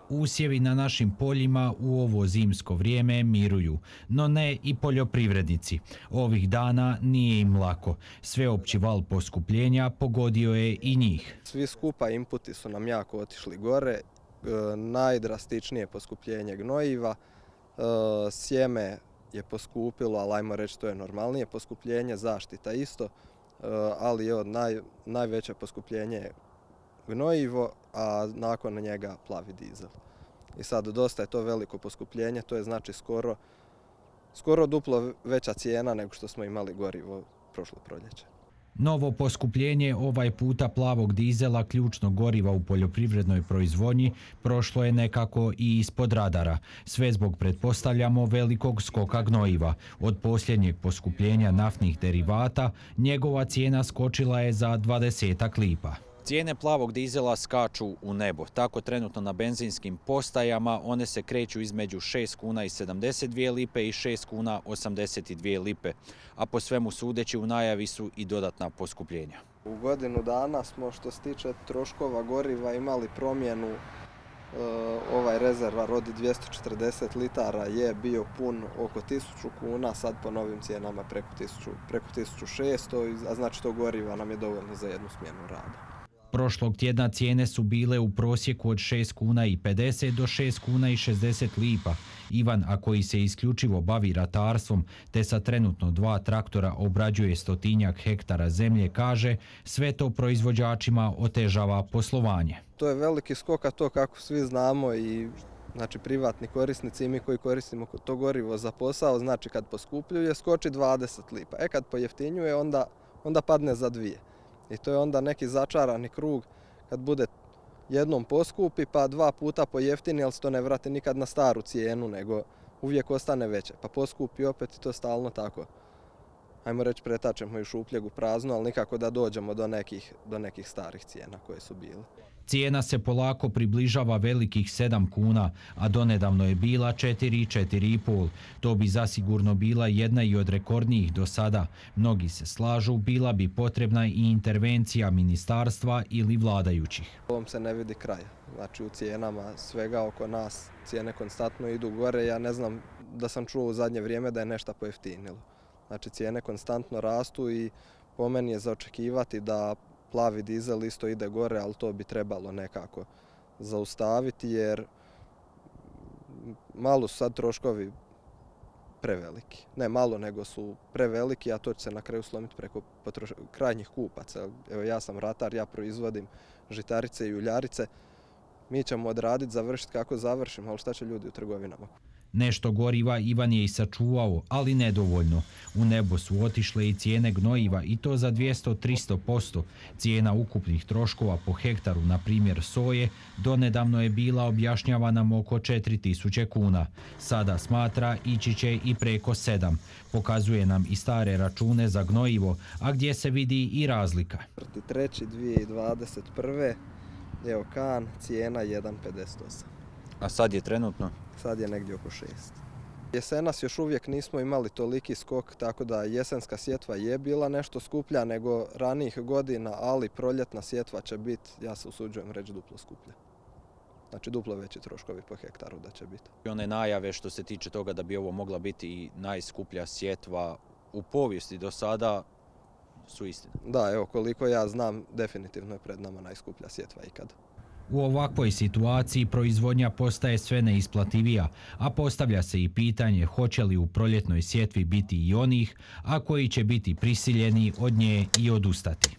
Usjevi na našim poljima u ovo zimsko vrijeme miruju, no ne i poljoprivrednici. Ovih dana nije im lako. Sveopći val poskupljenja pogodio je i njih. Svi skupa inputi su nam jako otišli gore. Najdrastičnije poskupljenje gnojiva. Sjeme je poskupilo, ali ajmo reći to je normalnije poskupljenje, zaštita isto, ali najveće poskupljenje je gnojivo, a nakon njega plavi dizel. I sad dosta je to veliko poskupljenje, to je znači skoro duplo veća cijena nego što smo imali gorivo prošlo proljeće. Novo poskupljenje ovaj puta plavog dizela, ključnog goriva u poljoprivrednoj proizvodnji, prošlo je nekako i ispod radara. Sve zbog, pretpostavljamo, velikog skoka gnojiva. Od posljednjeg poskupljenja naftnih derivata njegova cijena skočila je za 20 lipa. Cijene plavog dizela skaču u nebo. Tako trenutno na benzinskim postajama one se kreću između 6 kuna i 72 lipe i 6 kuna 82 lipe. A po svemu sudeći u najavi su i dodatna poskupljenja. U godinu dana smo što se tiče troškova goriva imali promjenu. Ovaj rezervar od 240 litara je bio pun oko 1000 kuna, sad po novim cijenama preko 1600, a znači to goriva nam je dovoljno za jednu smjenu rada. Prošlog tjedna cijene su bile u prosjeku od 6 kuna i 50 do 6 kuna i 60 lipa. Ivan, a koji se isključivo bavi ratarstvom te sa trenutno 2 traktora obrađuje 100-tinjak hektara zemlje, kaže sve to proizvođačima otežava poslovanje. To je veliki skok, a to kako svi znamo i znači privatni korisnici i mi koji koristimo to gorivo za posao, znači kad poskupljuje skoči 20 lipa. Kad pojeftinjuje onda padne za 2. I to je onda neki začarani krug kad bude jednom poskupi pa 2 puta pojeftini, ali se to ne vrati nikad na staru cijenu, nego uvijek ostane veće. Pa poskupi opet i to stalno tako. Ajmo reći pretačemo i šupljeg u prazno, ali nikako da dođemo do nekih starih cijena koje su bile. Cijena se polako približava velikih 7 kuna, a donedavno je bila 4 i 4,5. To bi zasigurno bila jedna i od rekordnijih do sada. Mnogi se slažu, bila bi potrebna i intervencija ministarstva ili vladajućih. Ovom se ne vidi kraja. Znači u cijenama svega oko nas cijene konstantno idu gore. Ja ne znam da sam čuo u zadnje vrijeme da je nešto pojeftinilo. Znači cijene konstantno rastu i po meni je za očekivati da plavi dizel isto ide gore, ali to bi trebalo nekako zaustaviti jer malo su sad troškovi preveliki. Ne malo, nego su preveliki, a to će se na kraju slomiti preko krajnjih kupaca. Evo ja sam ratar, ja proizvodim žitarice i uljarice. Mi ćemo odraditi, završiti kako završimo, ali šta će ljudi u trgovinama? Nešto goriva Ivan je i sačuvao, ali nedovoljno. U nebo su otišle i cijene gnojiva i to za 200-300%. Cijena ukupnih troškova po hektaru, na primjer soje, donedavno je bila, objašnjava nam, oko 4000 kuna. Sada smatra ići će i preko 7. Pokazuje nam i stare račune za gnojivo, a gdje se vidi i razlika. 3.2021. Evo kan, cijena 1,58. A sad je trenutno? Sad je negdje oko 6. Jesenas još uvijek nismo imali toliki skok, tako da jesenska sjetva je bila nešto skuplja nego ranijih godina, ali proljetna sjetva će biti, ja se usuđujem reći, duplo skuplja. Znači duplo veći troškovi po hektaru da će biti. I one najave što se tiče toga da bi ovo mogla biti i najskuplja sjetva u povijesti do sada su istine. Da, evo koliko ja znam, definitivno je pred nama najskuplja sjetva ikad. U ovakvoj situaciji proizvodnja postaje sve neisplativija, a postavlja se i pitanje hoće li u proljetnoj sjetvi biti i onih, a koji će biti prisiljeni od nje i odustati.